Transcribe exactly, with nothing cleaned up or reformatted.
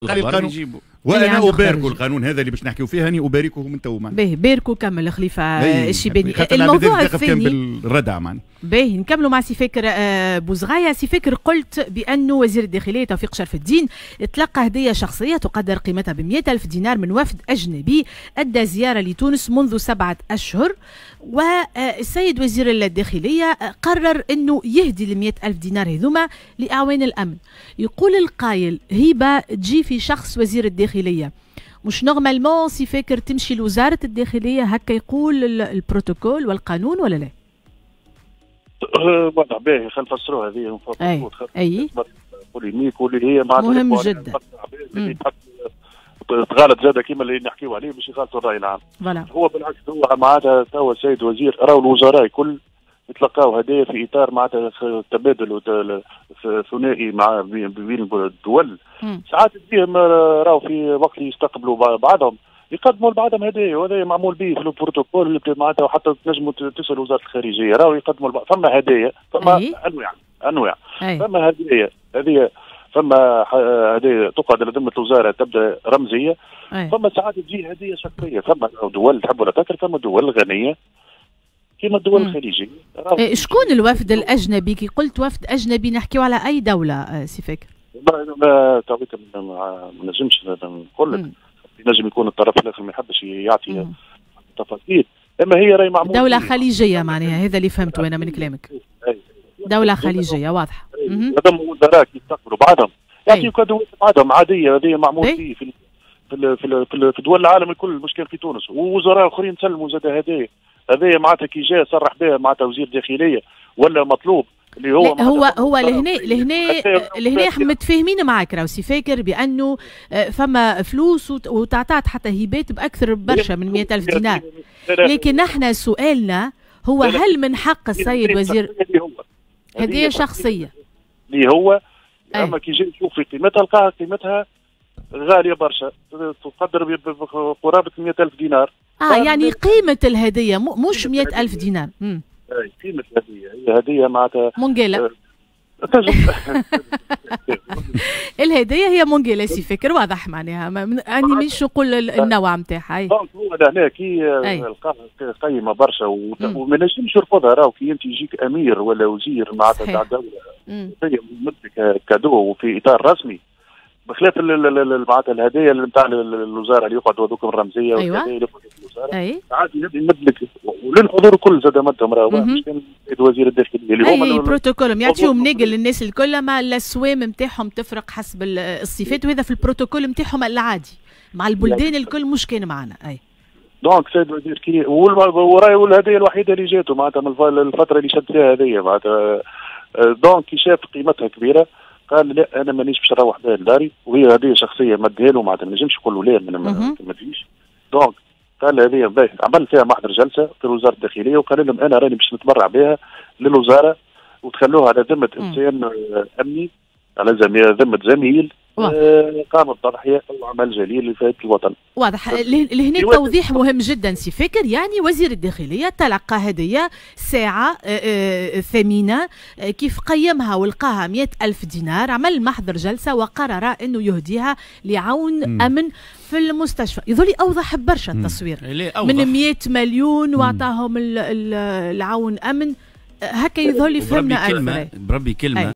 قال القانون، وانا ابارك القانون هذا اللي باش نحكيو فيه، هاني اباركه من تو. باهي، باركوا كمل خليفة الشيباني. الموضوع الثاني كان بالردع معناها. باهي، نكملوا مع سي فاكر آه، بوزغاية. سي فاكر، قلت بانه وزير الداخلية توفيق شرف الدين تلقى هديه شخصية تقدر قيمتها ب ألف دينار من وفد اجنبي ادى زيارة لتونس منذ سبعة اشهر، والسيد وزير الداخلية قرر انه يهدي ال ألف دينار هذوما لاعوان الامن. يقول القايل هبه تجي في شخص وزير الداخليه، مش normalement سي فاكر تمشي لوزارة الداخليه؟ هكا يقول البروتوكول والقانون ولا لا؟ واضح. باهي، خلينا نفسروها هذه. اي اي polémique واللي هي معناتها مهم جدا. تغالط زاد كيما اللي نحكيو عليه باش يغالطوا الراي العام. voilà. هو بالعكس، هو معناتها توا السيد وزير، راهو الوزراء الكل يتلقاو هدايا في اطار معناتها تبادل ثنائي مع بين الدول. ساعات تجيهم راهو في وقت يستقبلوا بعضهم يقدموا لبعضهم هدايا، وهذا معمول به في البروتوكول معناتها، وحتى تنجموا تسالوا وزارة الخارجيه، راهو يقدموا. فما هدايا، فما انواع انواع. فما هدايا هذه، فما هدايا تقعد لذمه الوزارة تبدا رمزيه. أي. فما ساعات تجي هديه شخصيه. فما دول تحب ولا تكره، فما دول غنية كما الدول الخليجيه. إيه، شكون الوفد الاجنبي؟ كي قلت وفد اجنبي نحكيو على اي دولة آه، سي فاكر؟ ما ما ما نجمش نقول لك، ينجم يكون الطرف الاخر ما يحبش يعطي تفاصيل، اما هي راهي معمول دولة خليجية معناها، هذا اللي فهمته انا من كلامك، دولة خليجية واضحه. هذا وزراء يستقبلوا بعضهم يعطيو cadeau بعضهم عاديه، هذه معمول فيه في في في, في دول العالم الكل، مش كان في تونس، ووزراء اخرين سلموا زاد هدايا. هذايا معناتها كي جاء صرح بها معناتها وزير داخلية ولا مطلوب اللي هو هو هو لهنا لهنا لهنا احنا متفاهمين معك راهو سي فاكر بانه آه، فما فلوس وتعطات حتى هبات باكثر برشا من مئة ألف دينار، لكن احنا سؤالنا هو هل من حق السيد وزير هدية شخصية؟ اللي هو اما كي جاي يشوف في قيمتها لقاها قيمتها غالية برشا، تقدر بقرابه مئة ألف دينار. اه يعني قيمة الهدية مش مئة ألف دينار. مم. قيمة الهديه، هي هديه معناتها منقله. آه، الهدية هي منقله سي فكر، واضح معناها، اني مش نقول النوع نتاعها. donc هو لهنا كي لقاها قيمة برشا وما نجمش يرفضها. راهو كي انت يجيك امير ولا وزير معناتها تاع دولة يمدلك cadeau وفي اطار رسمي، بخلاف معناتها الهدايا اللي نتاع الوزارة اللي يقعدوا هذوك الرمزية أيوة. والهدايا اللي يقعدوا في الوزاره. أي. عاد يمد لك وللحضور الكل زاد مدهم، راهو مش كان وزير الداخلية اللي هما اي بروتوكول يعطيهم نقل للناس الكل، ما الاسوام نتاعهم تفرق حسب الصفات، وهذا في البروتوكول نتاعهم العادي مع البلدان الكل، مش كان معنا اي. donc سيد الوزير كي وراي والهديه الوحيدة اللي جاته معناتها من الفترة اللي شد فيها هذه معناتها، donc كي شاف قيمتها كبيرة قال لا، انا مانيش باش نروح بها لداري، وهي هديه شخصية مديها له، معناتها ما نجمش يقول له لا ما تجيش. donc قال هذه باهي، عمل فيها محضر جلسه في وزارة الداخلية وقال لهم انا راني باش نتبرع بها للوزارة وتخلوها على ذمه انسان امني، على ذمه زميل آه قام بتضحيه او عمل جليل لفائدة الوطن. واضح، لهنا توضيح مهم جدا سي فكر، يعني وزير الداخلية تلقى هديه ساعة آه، آه، ثمينه، آه، كيف قيمها ولقاها مئة ألف دينار عمل محضر جلسه وقرر انه يهديها لعون م. امن في المستشفى. يظل اوضح برشا التصوير من مئة مليون واعطاهم العون امن، هكا يظل فهمنا. كلمة بربي كلمه.